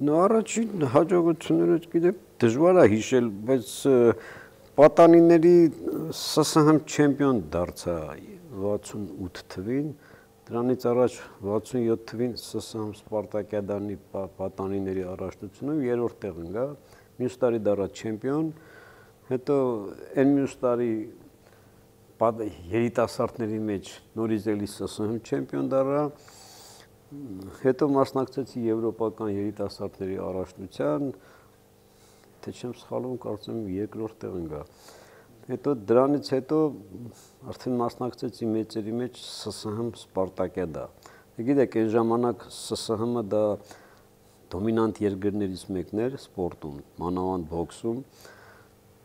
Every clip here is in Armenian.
Առաջին հաջողությունները գիտեք դժվար է հիշել, բայց պատանիների ՍՍՀ չեմպիոն դարձա 68 թվին, դրանից առաջ 67 թվին ՍՍՀ Սպարտակիադանի պատանիների առաջնությունում երրորդ տեղ ընկա, մյուս տարի դառա չեմպիոն, հետո այն մյուս տարի երիտասարդների մեջ նորից էլի ՍՍՀ չեմպիոն դառա, հետո մասնակցեցի եվրոպական երիտասարդների առաջնության, թե չեմ սխալվում, կարծեմ երկրորդ տեղ ընկա։ Հետո դրանից հետո արդեն մասնակցեցի մեծերի մեջ ՍՍՀ Սպարտակիադա։ Գիտեք, այն ժամանակ ՍՍՀ-ը դա դոմինանտ երկրներից մեկն էր սպորտում, մանավանդ բոքսում։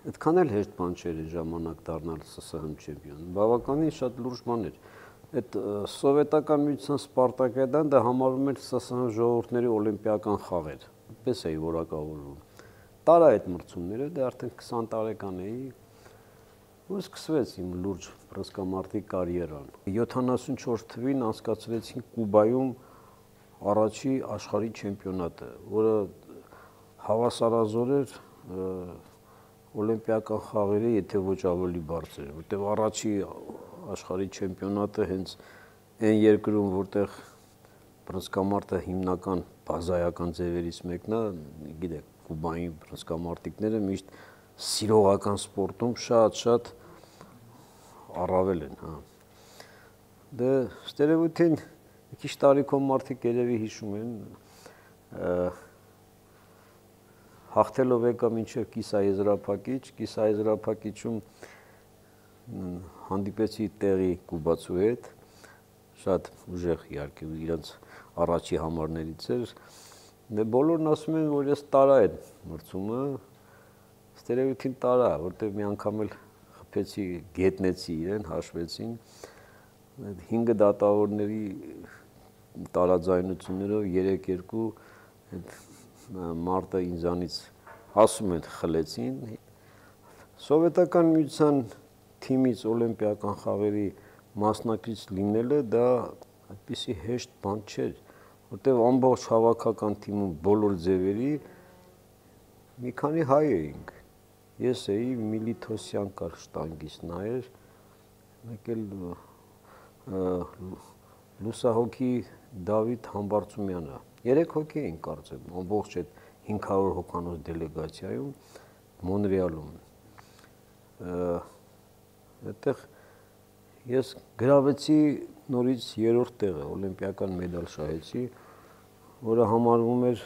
Այդքան էլ հեշտ բան չէր այն ժամանակ դառնալ ՍՍՀ չեմպիոն։ Բավականին շատ լուրջ բան էր։ Այդ սովետական միության Սպարտակիադան դա համարվում էր ՍՍՀ ժողովուրդների օլիմպիական խաղեր, այդպես էի որակավորվում։ Տարա այդ մրցումները, դա արդեն 20 տարեկան էի, ու սկսվեց իմ լուրջ բռնցքամարտի կարիերան։ 74 թվին անցկացրեցին Կուբայում առաջի աշխարհի չեմպիոնատը, որը հավասարազոր էր օլիմպիական խաղերի, եթե ոչ ավելի բարձր, որտեղ առաջի աշխարհի չեմպիոնատը հենց այն երկրում, որտեղ բռնցքամարտը հիմնական բազայական ձևերից մեկն է, գիտեք, Կուբայի բռնցքամարտիկները միշտ սիրողական սպորտում շատ առավել են, հա։ Դե ստերևութին մի քիչ տարիքով մարդիկ երևի հիշում են, հաղթելով եկա մինչև կիսաեզրափակիչում հանդիպեցի տեղի կուբացու հետ, շատ ուժեղ իհարկե իրենց առաջի համարներից էր, դե բոլորն ասում են, որ ես տարա այդ մրցումը, ստերևութին տարա, որտեղ մի անգամ էլ խփեցի, գետնեցի իրեն, հաշվեցին, 5 դատավորների տարաձայնություններով 3-2 մարտը ինձանից ասում են խլեցին, սովետական միության թիմից օլիմպիական խաղերի մասնակից լինելը դա այդպիսի հեշտ բան չէր, որտեղ ամբողջ հավաքական թիմում բոլոր ձևերի մի քանի հայ էինք, ես էի, Միլիթոսյան կար շտանգիստ նայեր, մեկ էլ լուսահոգի Դավիթ Համբարձումյանը, 3 հոգի էինք կարծեմ, ամբողջ այդ 500 հոգանոց դելեգացիայում Մոնրեալում, այդտեղ ես գրավեցի նորից երրորդ տեղը, օլիմպիական մեդալ շահեցի, որը համարվում էր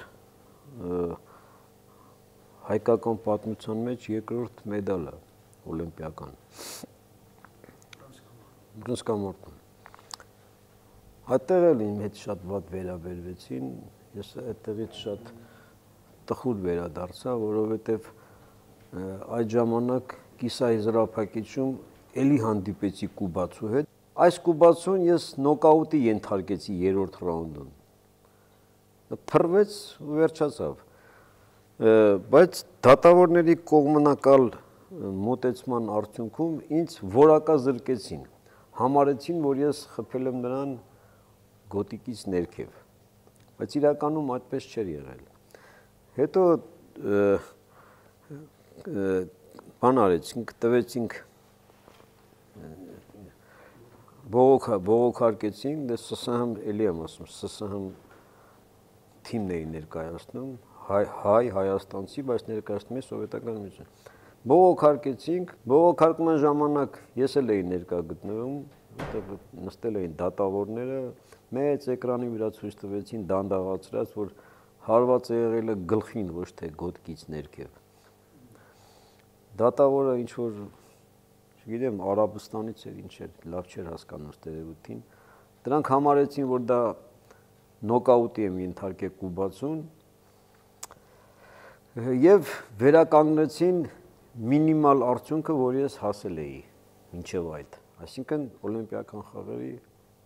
հայկական պատմության մեջ երկրորդ մեդալը օլիմպիական բռնցքամարտում։ Այդտեղ էլ իմ հետ շատ վատ վերաբերվեցին, ես այդտեղից շատ տխուր վերադարձա, որովհետև այդ ժամանակ կիսաեզրափակիչում էլի հանդիպեցի կուբացու հետ, այս կուբացուն ես նոկաուտի ենթարկեցի երրորդ ռաունդում, փռվեց ու վերջացավ, բայց դատավորների կողմնակալ մոտեցման արդյունքում ինձ որակազրկեցին, համարեցին, որ ես խփել եմ նրան գոտիկից ներքև, բայց իրականում այդպես չէր եղել, հետո բան արեցինք, տվեցինք բողոքարկեցինք, դե ՍՍՀ էլի եմ ասում, ՍՍՀ թիմն էի ներկայացնում, հայաստանցի, բայց ներկայացնում էի սովետական միություն։ Բողոքարկեցինք, բողոքարկման ժամանակ ես էլ էի ներկա գտնվում, որտեղ նստել էին դատավորները, մեծ էկրանի վրա ցույց տվեցին դանդաղացրած, որ հարված է եղել գլխին, ոչ թե գոտկից ներքև։ Դատավորը ինչ որ չգիտեմ, Արաբստանից էր, ինչ էր, լավ չէր հասկանում ստերևութին, դրանք համարեցին, որ դա նոկաուտի եմ ենթարկել կուբացուն և վերականգնեցին մինիմալ արդյունքը, որ ես հասել էի մինչև այդ, այսինքն օլիմպիական խաղերի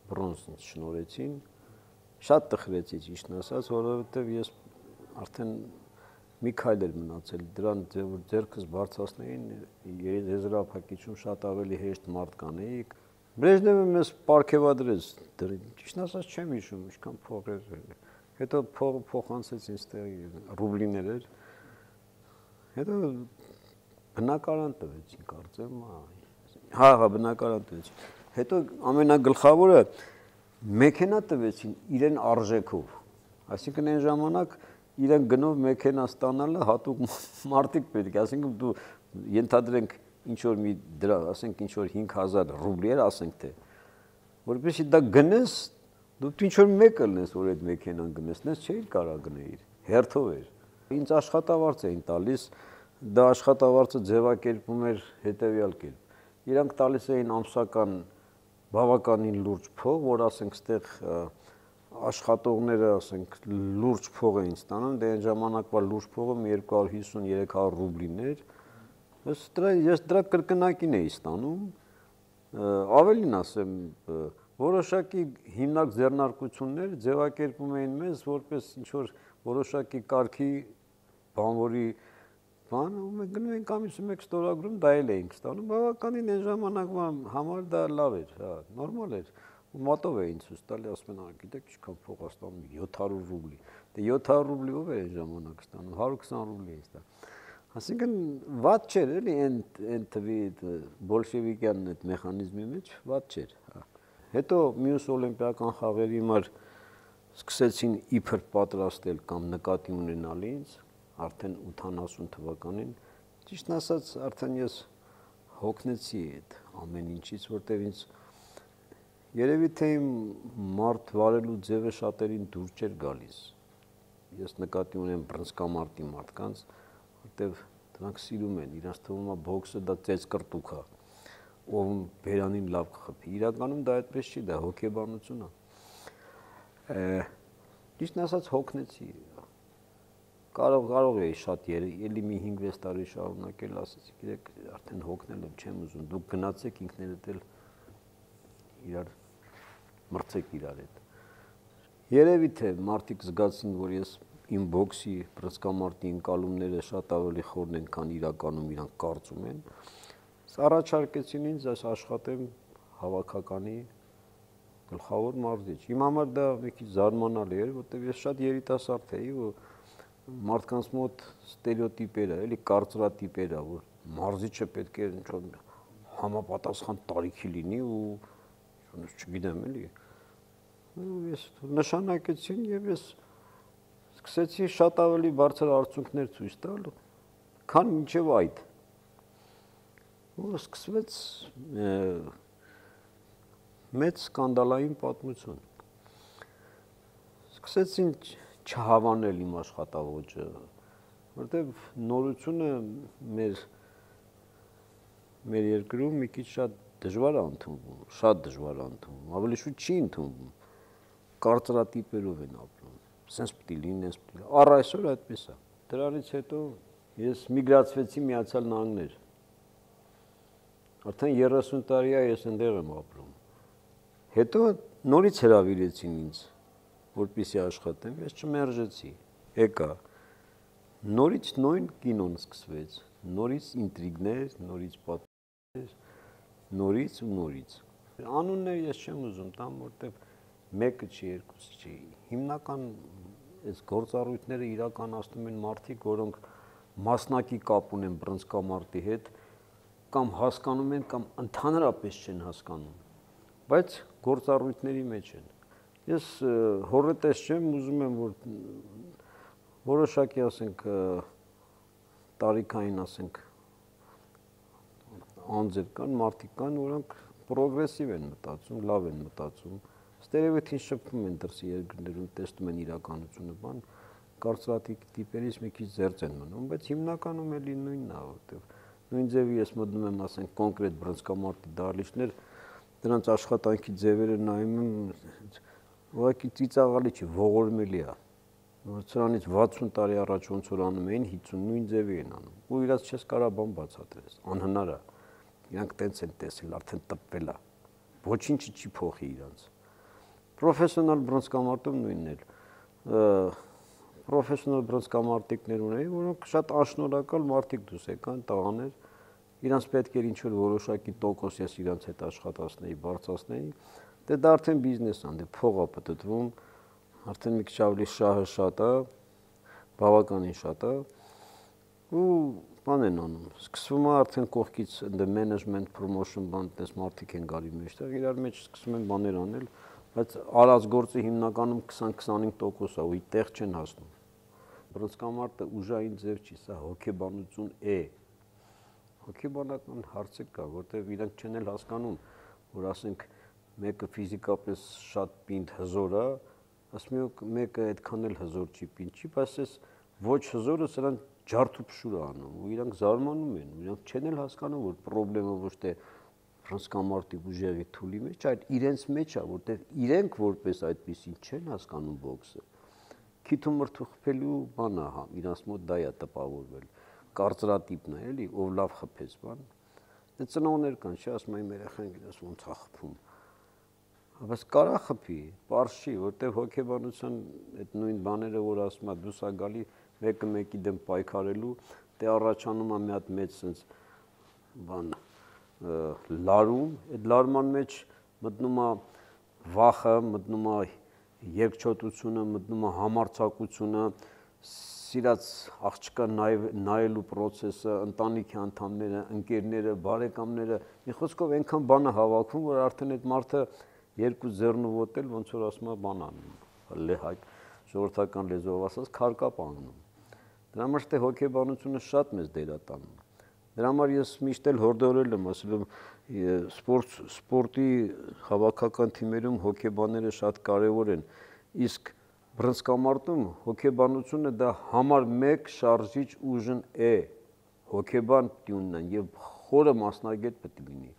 բրոնզ ինձ շնորհեցին, շատ տխրեցի ճիշտն ասած, որովհետև ես արդեն մի քայլ էր մնացել, դրան որ ձեռքս բարձրացնեին, եզրափակիչում շատ ավելի հեշտ մարդ կանեիք, Բրեժնևը մեզ պարգևադրեց, ճիշտն ասած չեմ հիշում, ինչքան փող էր, Հետո փոխանցեցին ստեղի ռուբլիներ էր։ Հետո բնակարան տվեցին, կարծեմ, հա, բնակարան տվեցին։ Հետո ամենագլխավորը մեքենա տվեցին իրեն արժեքով։ Այսինքն այն ժամանակ իրեն գնով մեքենա ստանալը հատուկ մարդիկ պետք է, այսինքն դու ենթադրենք ինչ որ մի դրա, ասենք ինչ որ 5000 ռուբլի էր, ասենք թե որովհետեւ դա գնես, դու ինչ որ մեկը լնես, որ այդ մեքենան գնես, նես չէիր կարող գնեիր, հերթով էր։ Ինձ աշխատավարձ էին տալիս, դա աշխատավարձը ձևակերպում էր հետևյալ կերպ։ Իրանք տալիս էին ամսական բավականին լուրջ փող, որ ասենք ստեղ աշխատողները, ասենք լուրջ փող էին ստանում, դե այն ժամանակվա լուրջ փողը 250-300 ռուբլիներ։ Ես դրա կրկնակին էի ստանում, ավելին ասեմ, որոշակի հիմնակ ձեռնարկություններ ձևակերպում էին մեզ որպես ինչ որ որոշակի կարգի բանվորի բան, ու մենք գնում ենք ամիսը մեկ ստորագրում, դա էլ էինք ստանում, բավականին այն ժամանակվա համար դա լավ էր, հա, նորմալ էր, ու մատով էին ցույց տալի, ասում են, գիտեք, ինչքան փող է ստանում, 700 ռուբլի, դե 700 ռուբլի ով էր այն ժամանակ ստանում, 120 ռուբլի էին ստանում, այսինքն վատ չէր, էլի, այն թվի բոլշևիկյան այդ մեխանիզմի մեջ վատ չէր, հա։ Հետո մյուս օլիմպիական խաղերի համար սկսեցին իբր պատրաստել կամ նկատի ունենալ ինձ, արդեն 80 թվականին, ճիշտ ասած, արդեն ես հոգնեցի այդ ամեն ինչից, որտեղ ինձ երևի թե իմ մարդ վարելու ձևը շատերին դուր չէր գալիս։ Ես նկատի ունեմ բռնցքամարտի մարդկանց, որտեղ դրանք սիրում են, իրանց թվում է բոքսը դա ծեծկռտուք է, ով բերանին լավ կխփի։ Իրականում դա այդպես չի, դա հոգեբանություն է։ Ճիշտ ասած հոգնեցի։ Կարող էի շատ էլի մի 5-6 տարի շարունակել, ասեցի, գիտեք, արդեն հոգնել եմ, չեմ ուզում, դուք գնացեք ինքներդ էլ իրար մրցեք իրար հետ։ Երևի թե մարդիկ զգացին, որ ես իմ բոքսի բռնցքամարտի ընկալումները շատ ավելի խորն են, քան իրականում իրանք կարծում են։ Առաջարկեցին ինձ այս աշխատեմ հավաքականի գլխավոր մարզիչ։ Իմ համար դա մի քիչ զարմանալի էր, որտեղ ես շատ երիտասարդ էի, ու մարդկանց մոտ ստերեոտիպեր է, էլի կարծրատիպեր է, որ մարզիչը պետք է ինչ-որ համապատասխան տարիքի լինի ու չգիտեմ էլի։ Ես նշանակեցին եւ ես սկսեցի շատ ավելի բարձր արդյունքներ ցույց տալ, քան մինչեւ այդ։ Ու սկսվեց մեծ սկանդալային պատմություն։ Սկսեցին չհավանել իմ աշխատավոճը, որտեղ նորությունը մեր երկրում մի քիչ շատ դժվար է ընդունվում, շատ դժվար է ընդունվում, ավելի շուտ չի ընդունվում, կարծրատիպերով են ապրում, սենց պիտի լինի, սենց պիտի լինի, առ այսօր այդպես է։ Դրանից հետո ես միգրացվեցի Միացյալ Նահանգներ, արդեն 30 տարի է ես այնտեղ եմ ապրում, հետո նորից հրավիրեցին ինձ, որպեսզի աշխատեմ, ես չմերժեցի, եկա, նորից նույն կինոն սկսվեց, նորից ինտրիգներ, նորից պատմություններ, նորից ու նորից։ Անուններ ես չեմ ուզում տամ, որտեղ մեկը չի, երկուսը չի։ Հիմնական այս գործառույթները իրականացնում են մարդիկ, որոնք մասնակի կապ ունեն բռնցքամարտի հետ, կամ հասկանում են, կամ ընդհանրապես չեն հասկանում, բայց գործառույթների մեջ են։ Ես հորետես չեմ, ուզում եմ, որ որոշակի, ասենք, տարիքային, ասենք, անձեր կան, մարդիկ կան, որոնք պրոգրեսիվ են մտածում, լավ են մտածում, ստերեոտիպին շփվում են դրսի երկրներում, տեսնում են իրականությունը, բան, կարծրատիպերից մի քիչ զերծ են մնում, բայց հիմնականում էլի նույնն է, որտեղ նույն ձևի ես մտնում եմ, ասենք, կոնկրետ բռնցքամարտի դահլիճներ, դրանց աշխատանքի ձևերը նայում եմ, ուղղակի ծիծաղալի չի, ողորմելի է։ Սրանից 60 տարի առաջ ոնց որ անում էին, 50 նույն ձևի են անում։ Ու իրաց չես կարող բան բացատրես, անհնար է։ Իրանք տենց են տեսել, արդեն տպվել է։ Ոչինչը չի փոխի իրանց։ Պրոֆեսիոնալ բռնցքամարտում նույնն էլ։ Պրոֆեսիոնալ բռնցքամարտիկներ ունեի, որոնք շատ անշնորհակալ մարդիկ դուս եկան, տղաներ, իրանց պետք էր ինչ-որ որոշակի տոկոս ես իրանց հետ աշխատացնեի, բարձրացնեի, դե դա արդեն բիզնես է, դե փող է պտտվում, արդեն մի քիչ ավելի շահը շատ է, բավականին շատ է, ու բան են անում, սկսվում է արդեն կողքից ընդ management promotion բան, այդպես մարդիկ են գալի մեջտեղ, իրար մեջ սկսում են բաներ անել, բայց արած գործը հիմնականում 20-25% է, ու այդտեղ չեն հասնում։ Բռնցքամարտը ուժային ձև չի, սա հոգեբանություն է։ Հոգեբանական հարցեր կա, որտեղ իրենք չեն էլ հասկանում, որ ասենք մեկը ֆիզիկապես շատ պինդ հզոր է, ասում մեկը այդքան էլ հզոր չի պինդ չի, բայց այս ոչ հզորը սրան ջարդուփշուր է անում, ու իրանք զարմանում են, իրանք չեն էլ հասկանում, որ խնդրեմը ոչ թե բռնցքամարտի ուժեղի թուլի մեջ, այլ իրենց մեջ է, որտեղ իրենք որպես այդպեսին չեն հասկանում բոքսը։ Քիթումրթու խփելու բան է, իրանց մոտ դա է տպավորվել, կարծրատիպն է, էլի, ով լավ խփեց բան։ Դե ծնողներ կան, չէ, ասում են երեխան գիտես ոնց է խփում։ Բայց կարա խփի, պարզ չի, որտեղ հոգեբանության այդ նույն բաները, որ ասում է դուս ա գալի մեկը մեկի դեմ պայքարելու, դե առաջանում է մի հատ մեծ sense բան լարում, այդ լարման մեջ մտնում է վախը, մտնում է երկչոտությունը, մտնում է համարձակությունը, սիրած աղջկա նայելու process-ը, ընտանիքի անդամները, ընկերները, բարեկամները, մի խոսքով այնքան բան է հավաքում, որ արդեն այդ մարդը երկու ձեռնու ոտել ոնց որ ասում է բան անում, ժողովրդական լեզվով ասած քարկապ անում։ Դրա համար թե հոգեբանությունը շատ մեծ դեր է տանում։ Դրա համար ես միշտ էլ հորդորել եմ, ասել եմ սպորտի հավաքական թիմերում հոգեբանները շատ կարևոր են, իսկ բռնցքամարտում հոգեբանությունը դա համար 1 շարժիչ ուժն է, հոգեբան տյունն են եւ խորը մասնագետ պետք է լինի։